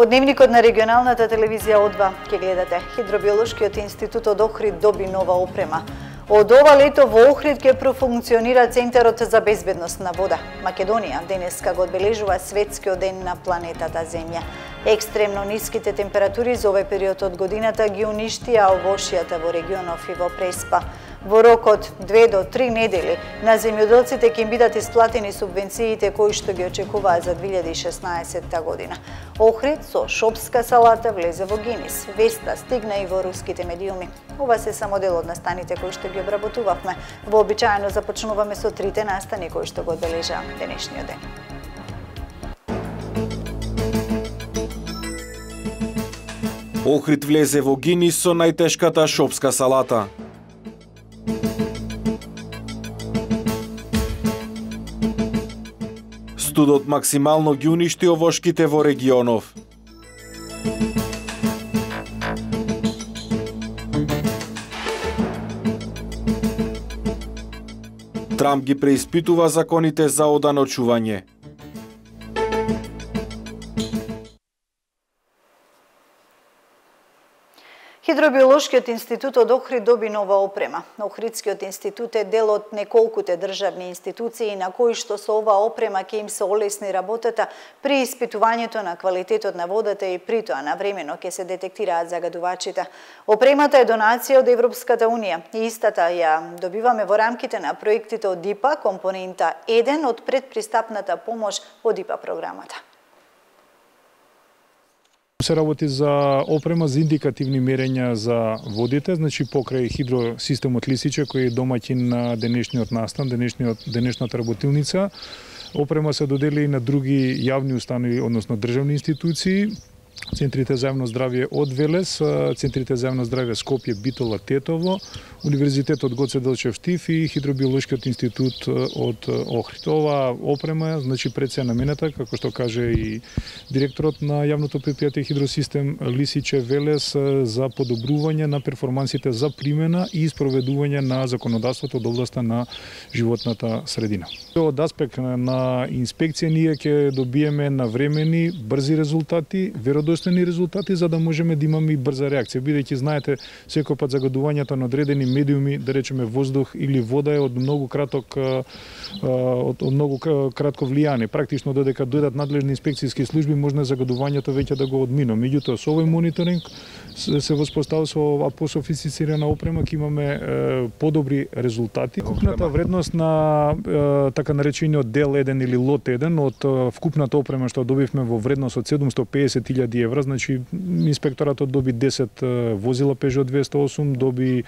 Во дневникот на регионалната телевизија О2 ќе гледате Хидробиолошкиот институт од Охрид доби нова опрема. Од ова лето во Охрид ќе профункционира Центарот за безбедност на вода. Македонија денеска го одбележува светскиот ден на планетата Земја. Екстремно ниските температури за овој период од годината ги уништија овошјата во регионов и во Преспа. Во рок од 2 до 3 недели на земјоделците ќе им бидат исплатени субвенциите кои што ги очекуваат за 2016 година. Охрид со шопска салата влезе во Гинис. Веста стигна и во руските медиуми. Ова се само дел од настаните кои што ги обработувавме. Вообичаено започнуваме со трите настани кои што го одбележаа денешниот ден. Охрид влезе во Гинис со најтешката шопска салата. Студот максимално ги уништи овошките во регионов. Трамп ги преиспитува законите за оданочување. Хидробиолошкиот институт од Охрид доби нова опрема. Охридскиот институт е дел од неколкуте државни институции на кои што со оваа опрема ќе им се олесни работата при испитувањето на квалитетот на водата и при тоа навремено ќе се детектираат загадувачите. Опремата е донација од Европската унија и истата ја добиваме во рамките на проектите од ИПА, компонента 1 од предпристапната помош од ИПА програмата. Се работи за опрема за индикативни мерења за водите, значи покрај хидросистемот Лисиче кој е домаќин на денешниот настан, денешната работилница. Опрема се додели и на други јавни установи, односно државни институции, Центрите за јавно здравје од Велес, Центрите за јавно здравје Скопје, Битола, Тетово, Универзитетот Гоце Делчев Тив и Хидробиолошкиот институт од Охрид. Ова опрема, значи пред се намената, како што каже и директорот на јавното претпријатие Хидросистем Лисиче Велес, за подобрување на перформансите за примена и спроведување на законодавството од областа на животната средина. Од аспект на инспекција ние ќе добиеме навремени, брзи резултати, веродостојни резултати за да можеме да имаме и брза реакција, бидејќи знаете секој пат загадувањето на одредени медиуми, да речеме воздух или вода е од многу кратко влијание. Практично додека дојдат надлежни инспекцијски служби може загадувањето веќе да го одмина. Меѓутоа со овој мониторинг се воспоставува со ова пософистицирана опрема ќе имаме подобри резултати. Вкупната вредност на така наречениот дел 1 или лот 1 од вкупната опрема што добивме во вредност од 750.000 евра, значи инспекторатот доби 10 возила Peugeot 208, доби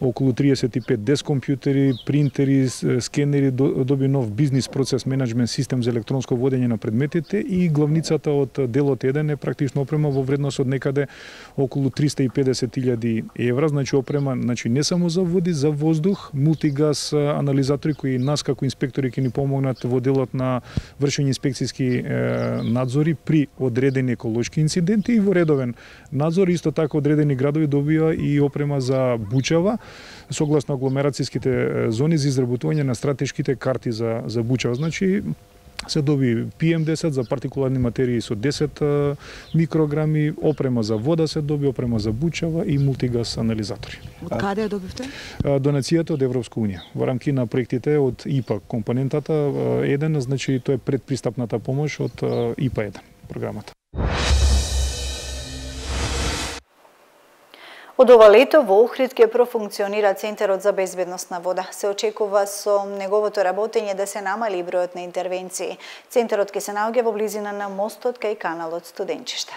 околу 35 дескомпјутери, принтери, скенери, доби нов бизнис процес менеджмент систем за електронско водење на предметите и главницата од делот 1 е практично опрема во вредност од некаде околу 350.000 евра, значи опрема не само за води, за воздух, мултигаз анализатори кои нас како инспектори ќе ни помогнат во делот на вршење инспекцијски надзори при одредени еколошки инциденти и во редовен надзор. Исто така одредени градови добија и опрема за бучава согласно агломерацијските зони за изработување на стратешките карти за бучава. Значи се доби PM10 за партикуларни материи со 10 микрограми, опрема за вода се доби, опрема за бучава и мултигаз анализатори. Од каде ја добивте? Донацијата од Европска унија. Во рамки на проектите од ИПА, компонентата 1, значи тоа е предпристапната помош од ИПА 1 програмата. Од ова лето во Охрид ќе профункционира Центарот за безбедност на вода. Се очекува со неговото работење да се намали бројот на интервенции. Центарот ќе се наоѓа во близина на мостот кај каналот Студенчиште.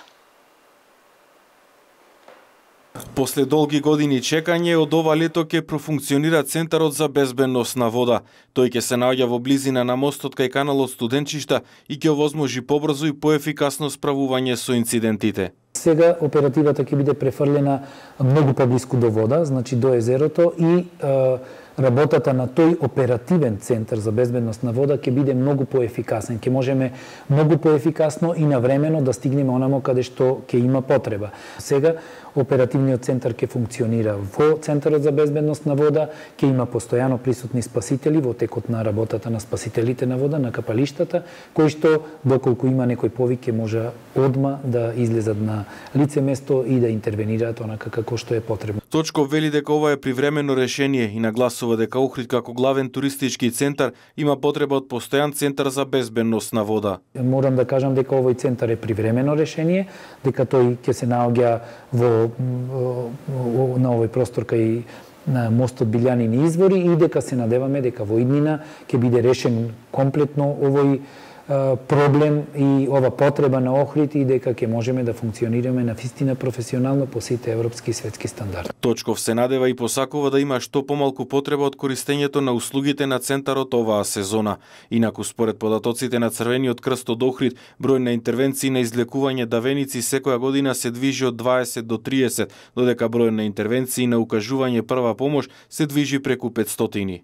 После долги години чекање, од ова лето ќе профункционира Центарот за безбедност на вода. Тој ќе се наоѓа во близина на мостот кај каналот Студенчишта и ќе овозможи побрзо и поефикасно справување со инцидентите. Сега оперативата ќе биде префрлена многу поблиску до вода, значи до езерото и работата на тој оперативен центар за безбедност на вода ќе биде многу поефикасен. Ќе можеме многу поефикасно и навремено да стигнеме онамо каде што ќе има потреба. Сега оперативниот центар ќе функционира во Центарот за безбедност на вода, ќе има постојано присутни спасители во текот на работата на спасителите на вода, на капалиштата, кои што, доколку има некој повик, ќе може одма да излезат на лице место и да интервенираат онака како што е потребно. Точков вели дека ова е привремено решение и нагласува дека Охрид како главен туристички центар има потреба од постојан центар за безбедност на вода. Морам да кажам дека овој центар е привремено решение, дека тој ќе се наоѓа на овој простор кај на мостот Билјанини извори и дека се надеваме дека во иднина ќе биде решен комплетно овој проблем и ова потреба на Охрид и дека ќе можеме да функционираме на вистина професионално по сите европски и светски стандарди. Точков се надева и посакува да има што помалку потреба од користењето на услугите на центарот оваа сезона. Инаку според податоците на Црвениот крст од Охрид, број на интервенции на излекување давеници секоја година се движи од 20 до 30, додека број на интервенции на укажување прва помош се движи преку 500.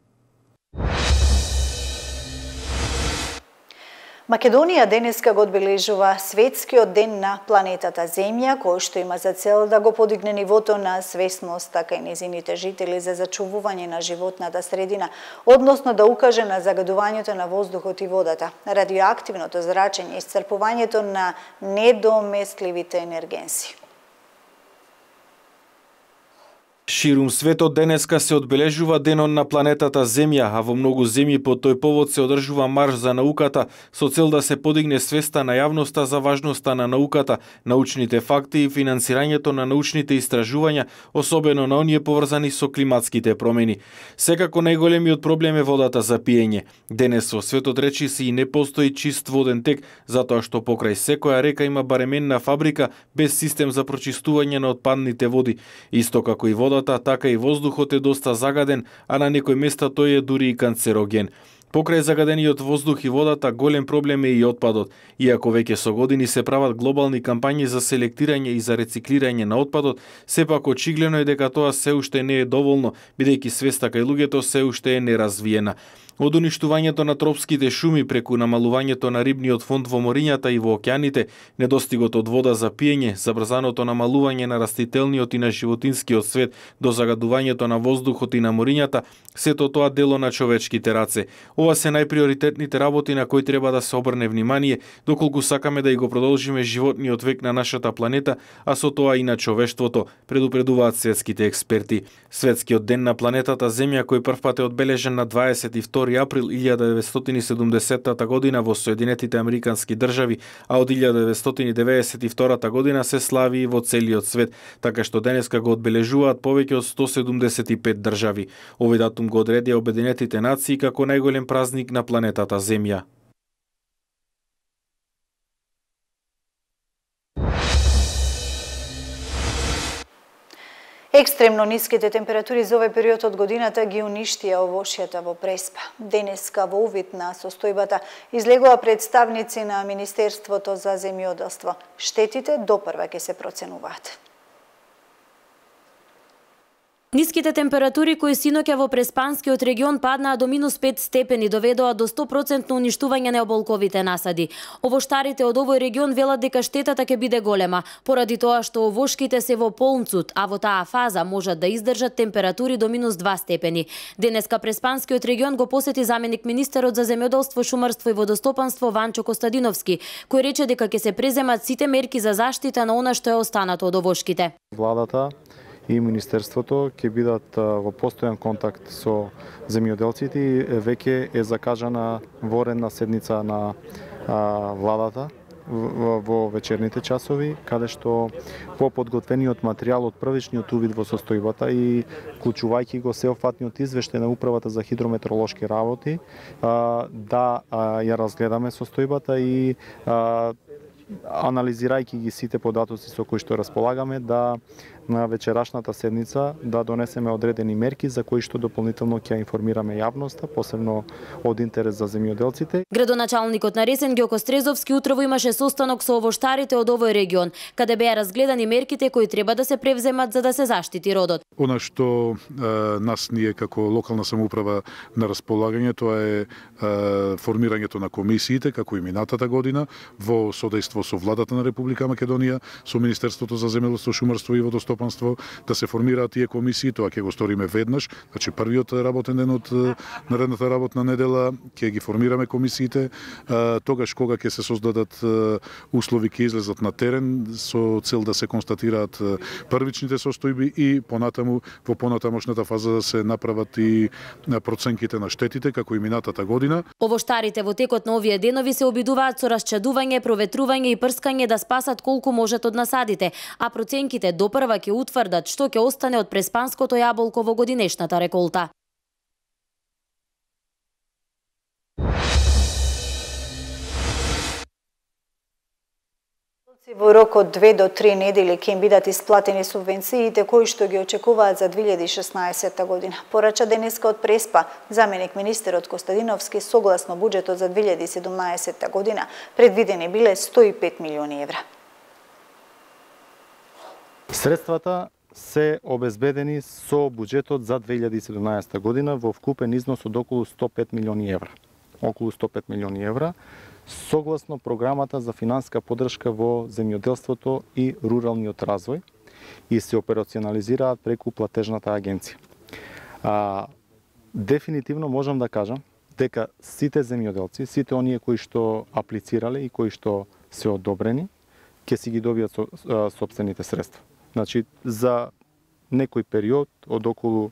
Македонија денеска го одбележува Светскиот ден на планетата Земја, кој што има за цел да го подигне нивото на свесност така и незините жители за зачувување на животната средина, односно да укаже на загадувањето на воздухот и водата, радиоактивното зрачење и исцрпувањето на недоместливите енергенси. Ширум светот денеска се одбележува денот на планетата Земја, а во многу земји по тој повод се одржува марш за науката со цел да се подигне свеста на јавноста за важноста на науката, научните факти и финансирањето на научните истражувања, особено на оние поврзани со климатските промени. Секако најголемиот проблем е водата за пиење. Денес во светот речиси и не постои чист воден тек, затоа што покрај секоја река има барем една фабрика без систем за прочистување на отпадните води. Исто како и водата, така и воздухот е доста загаден, а на некои места тој е дури и канцероген. Покрај загадениот воздух и водата, голем проблем е и отпадот. Иако веќе со години се прават глобални кампањи за селектирање и за рециклирање на отпадот, сепак очигледно е дека тоа се уште не е доволно, бидејќи свеста кај луѓето се уште е неразвиена. Од уништувањето на тропските шуми преку намалувањето на рибниот фонд во морињата и во океаните, недостигот од вода за пиење, забрзаното намалување на растителниот и на животинскиот свет до загадувањето на воздухот и на морињата, сето тоа дело на човечките раце. Ова се најприоритетните работи на кои треба да се обрне внимание, доколку сакаме да и го продолжиме животниот век на нашата планета, а со тоа и на човештвото, предупредуваат светските експерти. Светскиот ден на планетата Земја, кој првпат е одбележен на 22 април 1970 година во Соединетите Американски држави, а од 1992 година се слави во целиот свет, така што денеска го одбележуваат повеќе од 175 држави. Овој датум го одредија Обединетите нации како најголем празник на планетата Земја. Екстремно ниските температури за овој период од годината ги уништија овошјата во Преспа. Денеска во увид на состојбата излегува представници на Министерството за земјоделство. Штетите допрва ќе се проценуваат. Ниските температури кои синоќа во Преспанскиот регион паднаа до -5 степени доведоа до 100% уништување на оболковите насади. Овоштарите од овој регион велат дека штетата ќе биде голема, поради тоа што овошките се во полнцут, а во таа фаза можат да издржат температури до -2 степени. Денеска Преспанскиот регион го посети заменик министерот за земјоделство, шумарство и водостопанство Ванчо Костадиновски, кој рече дека ќе се преземат сите мерки за заштита на она што е останато од овошките. Владата и Министерството ќе бидат во постојан контакт со земјоделците и веќе е закажана воредна седница на владата во вечерните часови, каде што по подготвениот материјал од првичниот увид во состојбата и вклучувајќи го сеопфатниот извештај на Управата за хидрометеоролошки работи, да ја разгледаме состојбата и анализирајќи ги сите податоци со кои што располагаме, да на вечерашната седница да донесеме одредени мерки за кои што дополнително ќе информираме јавноста, посебно од интерес за земјоделците. Градоначалникот на Ресен Ѓоко Стрезовски утрово имаше состанок со овоштарите од овој регион, каде беа разгледани мерките кои треба да се превземат за да се заштити родот. Она што нас ние како локална самоуправа на располагање, тоа е формирањето на комисиите, како и минатата година, во содејство со владата на Република Македонија, со Министерството за земјоделство, шумарство и водостопанство, да се формираат тие комисии. Тоа ќе го сториме веднаш, значи првиот работен ден од наредната работна недела ќе ги формираме комисиите, тогаш кога ќе се создадат услови, ќе излезат на терен со цел да се констатираат првичните состојби и понатаму во понатамошната фаза да се направат и проценките на штетите како и минатата година. Овоштарите во текот на овие денови се обидуваат со расчадување, проветрување и прскање да спасат колку можат од насадите, а проценките допрва ќе утврдат што ќе остане од преспанското јаболко во годинешната реколта. Во рок од 2 до 3 недели ќе им бидат исплатени субвенциите кои што ги очекуваат за 2016 година. Порача денеска од Преспа заменик министерот Костадиновски, согласно буџетот за 2017 година предвидени биле 105 милиони евра. Средствата се обезбедени со буџетот за 2017 година во вкупен износ од околу 105 милиони евра. Околу 105 милиони евра, согласно програмата за финанска поддршка во земјоделството и руралниот развој и се операционализираат преку платежната агенција. Дефинитивно можам да кажам дека сите земјоделци, сите оние кои што аплицирале и кои што се одобрени, ќе си ги добијат сопствените средства. Значи, за некој период од околу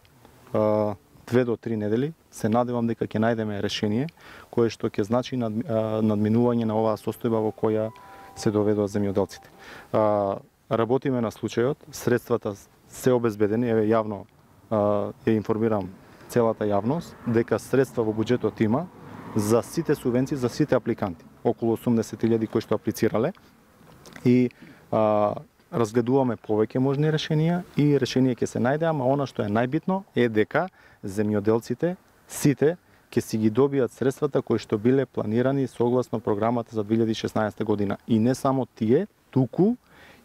2 до 3 недели се надевам дека ќе најдеме решение кое што ќе значи надминување на оваа состојба во која се доведоа земјоделците. Работиме на случајот, средствата се обезбедени, еве јавно ја информирам целата јавност дека средства во буџетот има за сите субвенции, за сите апликанти, околу 80.000 кои што аплицирале и разгледуваме повеќе можни решенија и решение ќе се најде, ама она што е најбитно е дека земјоделците сите ќе си ги добијат средствата кои што биле планирани согласно програмата за 2016 година. И не само тие, туку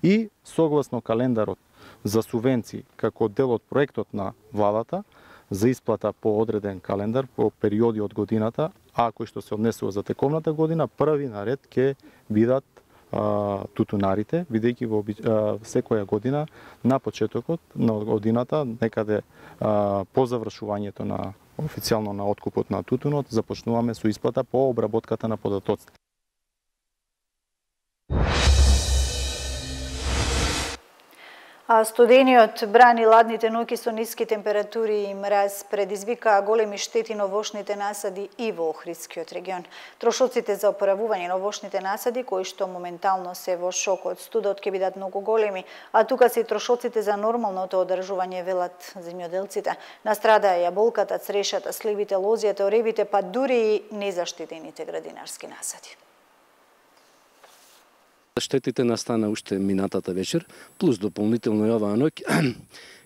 и согласно календарот за субвенции како дел од проектот на владата за исплата по одреден календар по периоди од годината, а кои што се однесува за тековната година, први наред ќе бидат тутунарите, бидејќи во секоја година на почетокот на годината, некаде по завршувањето на официјално на откупот на тутунот, започнуваме со исплата по обработката на податоците. А студениот бран и ладните ноќи со ниски температури и мраз предизвикаа големи штети на овошните насади и во Охридскиот регион. Трошоците за опоравување на овошните насади, кои што моментално се во шок од студот, ќе бидат многу големи, а тука се и трошоците за нормалното одржување, велат земјоделците. Настрадаа јаболката, црешата, сливите, лозијата, оревите, па дури и незаштитените градинарски насади. Штетите настана уште минатата вечер, плюс дополнително и оваа ноќ.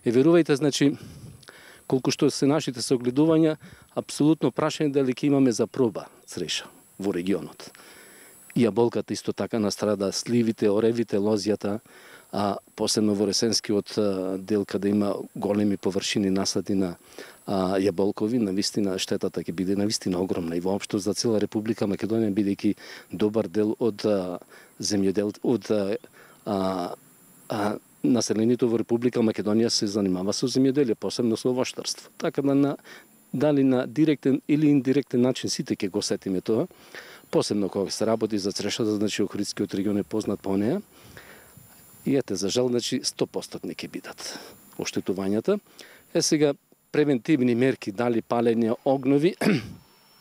И верувајте, значи, колку што се нашите согледувања, апсолутно прашање дали ќе имаме за проба цреша во регионот. И јаболката исто така настрадаа, сливите, оревите, лозијата, а посебно во ресенскиот дел каде има големи површини насади на јаболкови, навистина штетата ќе биде навистина огромна и воопшто за цела Република Македонија, бидејќи добар дел од населението во Република Македонија се занимава со земјоделие, посебно со овоштарство. Така да дали на директен или индиректен начин сите ќе го сетиме тоа, посебно кога се работи за црешата, значи Охридскиот регион е познат по неа. И ете, за жал, значи 100% ќе бидат оштетувањата. Сега превентивни мерки, дали палење огнови,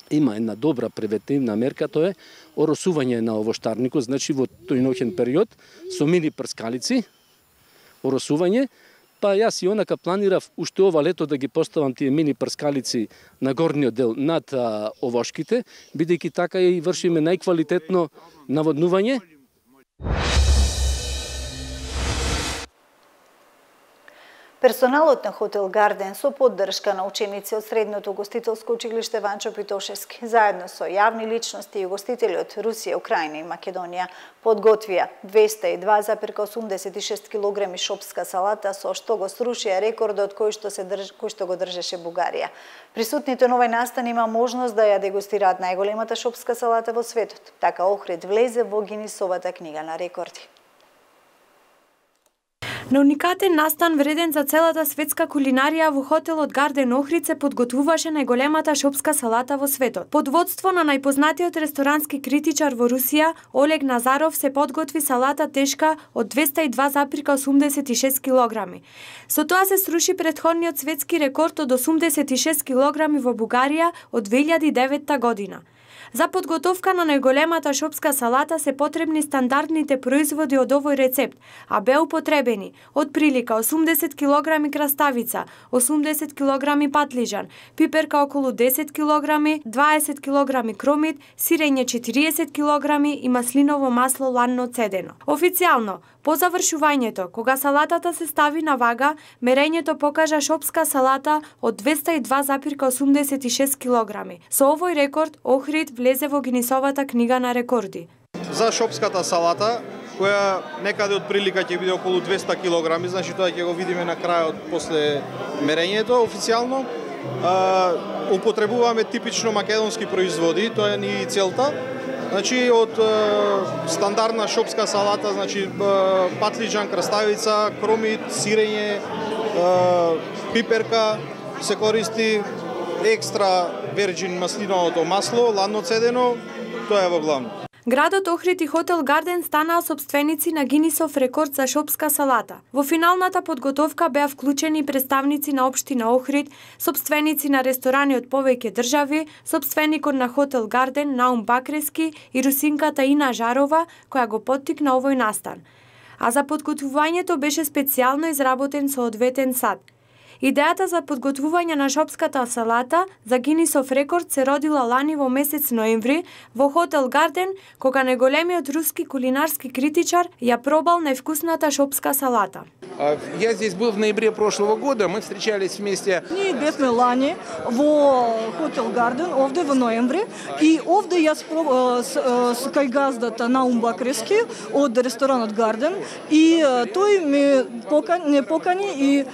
има една добра превентивна мерка, тоа е оросување на овоштарникот, значи во тој ноќен период со мини прскалици, оросување, па јас и онака планирав уште ова лето да ги поставам тие мини прскалици на горниот дел над овошките, бидејќи така и вршиме најквалитетно наводнување. Персоналот на хотел Гарден со поддршка на ученици од средното гостителско училиште Ванчо Питошевски, заедно со јавни личности и гостители од Русија, Украина и Македонија, подготвија 202,86 кг шопска салата, со што го срушија рекордот кој што го држеше Бугарија. Присутните на овој настан има можност да ја дегустираат најголемата шопска салата во светот. Така Охрид влезе во Гинисовата книга на рекорди. На уникатен настан вреден за целата светска кулинарија во хотелот Гарден Охрид се подготвуваше најголемата шопска салата во светот. Под водство на најпознатиот ресторански критичар во Русија, Олег Назаров, се подготви салата тешка од 202,86 кг. Со тоа се сруши претходниот светски рекорд од 86 кг во Бугарија од 2009 година. За подготовка на најголемата шопска салата се потребни стандардните производи од овој рецепт, а беа употребени од прилика 80 кг краставица, 80 кг патлижан, пиперка околу 10 кг, 20 кг кромит, сирење 40 кг и маслиново масло ланно цедено. Официјално, по завршувањето, кога салатата се стави на вага, мерењето покажа шопска салата од 202,86 кг. Со овој рекорд Охрид влезе во Гинисовата книга на рекорди. За шопската салата, која некаде од прилика ќе биде околу 200 кг, значи тоа ќе го видиме на крајот после мерењето официјално. Употребуваме типично македонски производи, тоа е ни и целта. Значи од стандардна шопска салата, значи патлиџан, краставица, кромит, сирење, пиперка, се користи екстра верџин маслиновото масло, ладно цедено, тоа е во главно. Градот Охрид и хотел Гарден станаа сопственици на Гинисов рекорд за шопска салата. Во финалната подготовка беа вклучени представници на општина Охрид, сопственици на ресторани од повеќе држави, сопственикот на хотел Гарден Наум Бакрески и русинката Ина Жарова, која го поттикна овој настан. А за подготвувањето беше специјално изработен соодветен сад. Идејата за подготвување на шопската салата за Гинисов рекорд се родила лани во месец ноември во хотел Гарден, кога најголемиот руски кулинарски критичар ја пробал највкусната шопска салата. Я здесь был в ноябре прошлого года, мы встречались вместе. Ние бевме лани во хотел Гарден, овде во ноември, и овде јас кај газдата Наум Бакрески од ресторанот Гарден, и тој ме покани и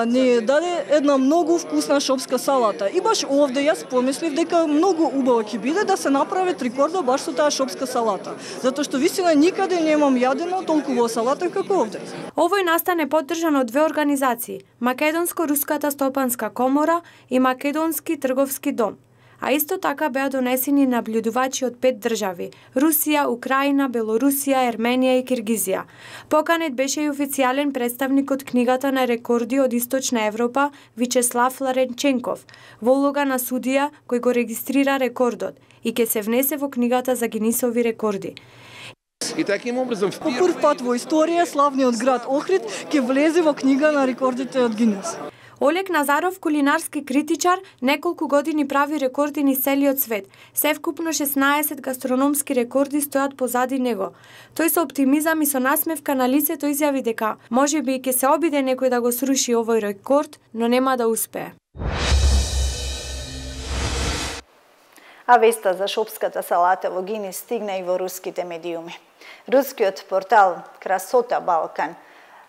не даде една многу вкусна шопска салата. И баш овде јас помислив дека многу убаво ќе биде да се направи рекордо баш со таа шопска салата. Затоа што вистина никаде немам јадено толку салата како овде. Овој настан е поддржан од две организации: Македонско-руската стопанска комора и Македонски трговски дом. А исто така беа донесени наблюдувачи од 5 држави: Русија, Украина, Белорусија, Ерменија и Киргизија. Поканет беше и официјален представник од книгата на рекорди од Источна Европа, Вичеслав Ларенченков, во улога на судија кој го регистрира рекордот и ќе се внесе во книгата за Гинисови рекорди. И таким образом по прв пат во историја славниот град Охрид ќе влезе во книга на рекордите од Гинес. Олег Назаров, кулинарски критичар, неколку години прави рекорди низ целиот свет. Севкупно 16 гастрономски рекорди стојат позади него. Тој со оптимизам и со насмевка на лицето изјави дека можеби ќе се обиде некој да го сруши овој рекорд, но нема да успее. А веста за шопската салата во Гинис стигна и во руските медиуми. Рускиот портал Красота Балкан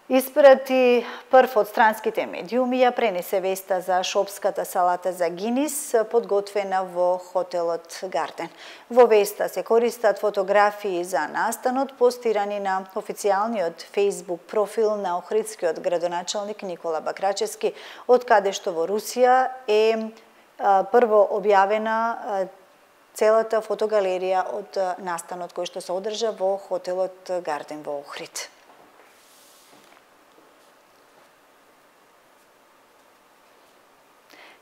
испрати прв од странските медиуми ја пренесе веста за шопската салата за Гинис, подготвена во хотелот Гарден. Во веста се користат фотографии за настанот, постирани на официјалниот Facebook профил на охридскиот градоначалник Никола Бакрачевски, од каде што во Русија е прво објавена целата фотогалерија од настанот кој што се одржа во хотелот Гарден во Охрид.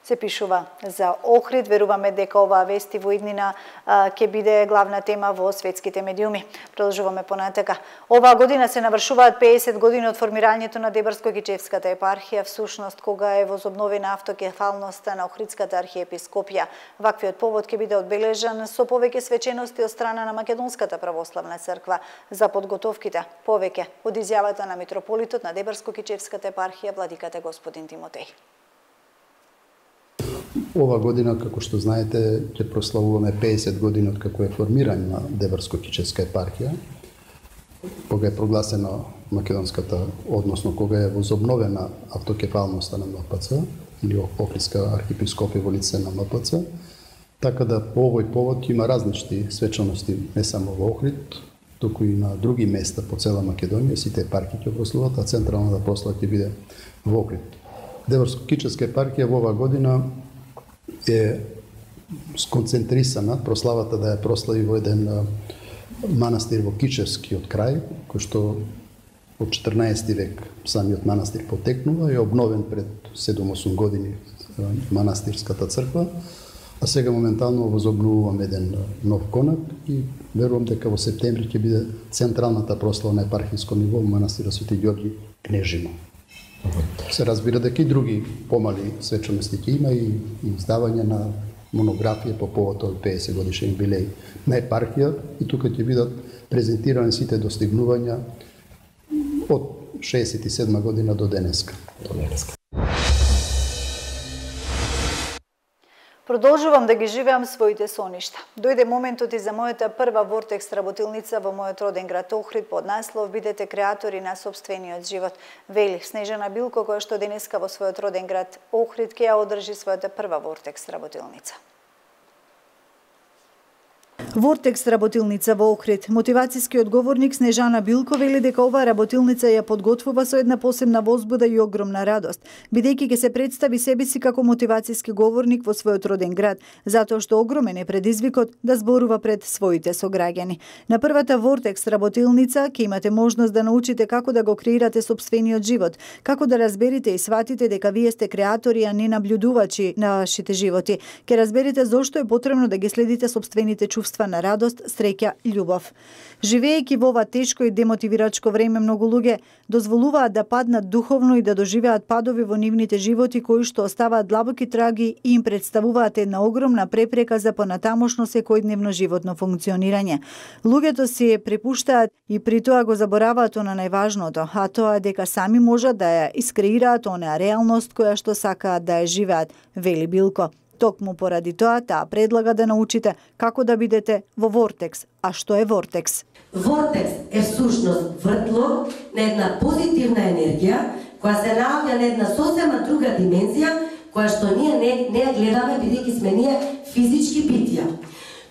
се пишува за Охрид. Веруваме дека оваа вести во иднина ќе биде главна тема во светските медиуми. Продолжуваме понатака. Оваа година се навршуваат 50 години од формирањето на Дебарско-Кичевската епархија, всушност кога е возобновена автокефалноста на Охридската архиепископија. Ваквиот повод ќе биде одбележан со повеќе свечености од страна на Македонската православна црква за подготовките. Повеќе од изјавата на митрополитот на Дебарско-Кичевската епархија владиката господин Тимотеј. Ова година, како што знаете, ќе прославуваме 50 години од како е формирање на Дебарско-Кичевска епархија, кога е прогласена македонската, односно кога е возобновена автокефалноста на МПЦ или Охридска архиепископија во лице на МПЦ, така да по овој повод има различни свечаности не само во Охрид, туку и на други места по цела Македонија, сите епархии ќе прославуваат, а централната прослава ќе биде во Охрид. Дебарско-Кичевска епархија во оваа година е сконцентрисана, прославата да ја прослави во еден манастир во Кичевскиот крај, кој што од 14 век самиот манастир потекнува и е обновен пред 7-8 години манастирската црква, а сега моментално возобновуваме еден нов конак и верувам дека во септември ќе биде централната прослава на епархиско ниво во манастира Свети Ѓорѓи Кнежино. Се разбира дека и други помали свечаности ќе има и издавање на монографија по повод од 50 годишен юбилеј на епархија и тука ќе бидат презентирани сите достигнувања од 67 година до денеска. Продолжувам да ги живеам своите соништа. Дојде моментот и за мојата прва Вортекс работилница во мојот роден град Охрид под наслов "Бидете креатори на сопствениот живот", вели Снежана Билко, која што денеска во својот роден град Охрид ќе ја одржи својата прва Вортекс работилница. Вортекс работилница во Охрид. Мотивацијскиот говорник Снежана Билко вели дека оваа работилница ја подготвува со една посебна возбуда и огромна радост, бидејќи ќе се представи себе си како мотивацијски говорник во својот роден град, затоа што огромен е предизвикот да зборува пред своите сограѓани. На првата Вортекс работилница ќе имате можност да научите како да го креирате сопствениот живот, како да разберите и сватите дека вие сте креатори, а не наблюдувачи на вашите животи. Ќе разберете зошто е потребно да ги следите сопствените чувства на радост, среќа, љубов. Живеејќи во ова тешко и демотивирачко време, многу луѓе дозволуваат да паднат духовно и да доживеат падови во нивните животи кои што оставаат длабоки траги и им представуваат една огромна препрека за понатамошно секојдневно животно функционирање. Луѓето си препуштаат и при тоа го забораваат на најважното, а тоа дека сами можат да ја искреираат онаа реалност која што сакаат да ја живеат, вели Билко. Токму поради тоа, таа предлага да научите како да бидете во Вортекс. А што е Вортекс? Вортекс е всушност вртлок на една позитивна енергија, која се наоѓа на една сосема друга димензија, која што ние не ја гледаме, бидејќи сме ние физички битија.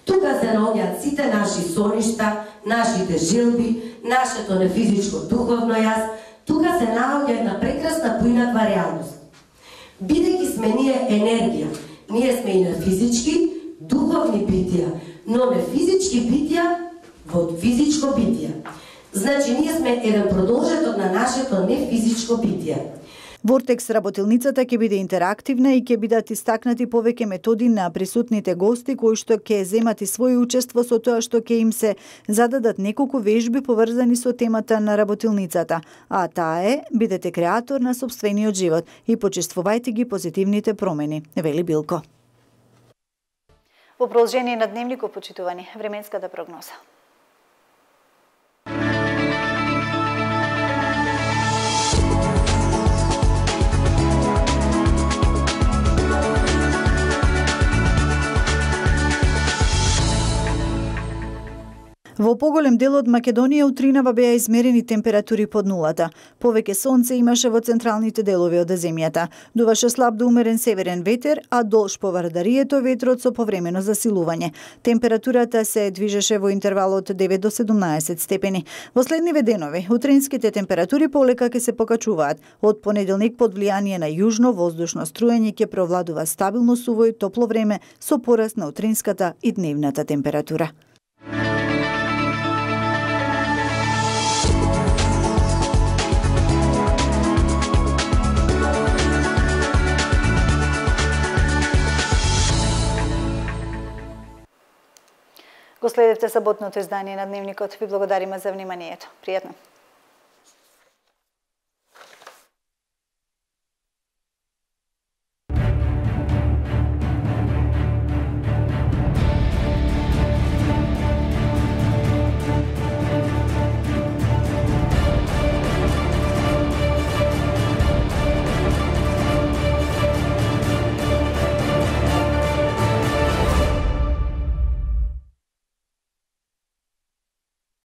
Тука се наоѓаат сите наши соништа, нашите желби, нашето нефизичко духовно јас. Тука се наоѓа една прекрасна поинаква реалност. Бидејќи сме ние енергија, ние сме и на физички, духовни битија, но не физички битија во физичко битие. Значи, ние сме еден продолжеток на нашето нефизичко битие. Вортекс работилницата ќе биде интерактивна и ќе бидат истакнати повеќе методи на присутните гости кои што ќе земат и своје учество со тоа што ќе им се зададат неколку вежби поврзани со темата на работилницата, а таа е бидете креатор на сопствениот живот и почествувајте ги позитивните промени, вели Билко. Во продолжение на дневникот, почитувани, временската прогноза. Во поголем дел од Македонија утринава беа измерени температури под нулата. Повеќе сонце имаше во централните делови од земјата. Дуваше слаб до умерен северен ветер, а долж по Вардарието ветрот со повремено засилување. Температурата се движеше во интервал од 9 до 17 степени. Во следниве денови, утринските температури полека ќе се покачуваат. Од понеделник под влијание на јужно воздушно струење ќе провладува стабилно суво и топло време со пораст на утринската и дневната температура. Го следевте саботното издание на Дневникот. Ви благодариме за вниманието. Пријатно.